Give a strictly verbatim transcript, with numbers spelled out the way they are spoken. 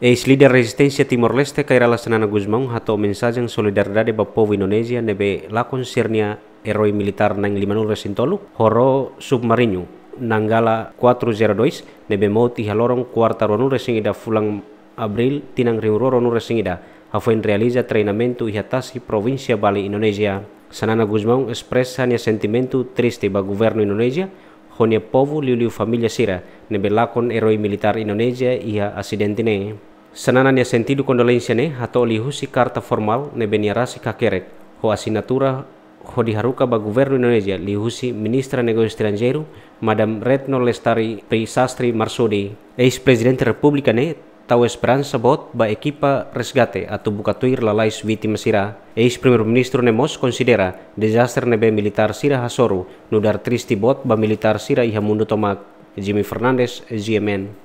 Eis-líder rezisténsia Timor-Leste, Kay Rala Xanana Gusmão, hato'o mensajen solidariedade ba povu Indonézia ne'ebé lakon sira-nia eroi militár na'in-lima-nulu resin-tolu, ho ró submariñu Nanggala quatro zero dois, ne'ebé mout iha loron kuarta ruanulu resin-ida fulan Abríl tinan rihun rua ruanulu resin-ida, hafoin realiza treinamentu iha tasi provínsia Bali, Indonézia. Xanana Gusmão espresa nia sentimentu triste ba governu Indonézia ho nia povu, liuliu família sira ne'ebé lakon eroi militár Indonézia iha asidente ne'e. Xanana nia sentidu kondolénsia ne'e hato'o liuhusi karta formál ne'ebé nia rasik hakerek ho asinatura hodi haruka ba governu Indonézia liuhusi Ministra Negósiu Estranjeiru, Madam Retno Lestari Prisastri Marsudi. Eis-Prezidente Repúblika ne'e tau esperansa boot ba ekipa resgate atu buka tuir lalais vítima sira. Eis-Primeiru-Ministru ne'e mós konsidera dezastre ne'ebé militár sira hasoru nu'udar triste boot ba militár sira iha mundu tomak. Jimmy Fernandes, G M N.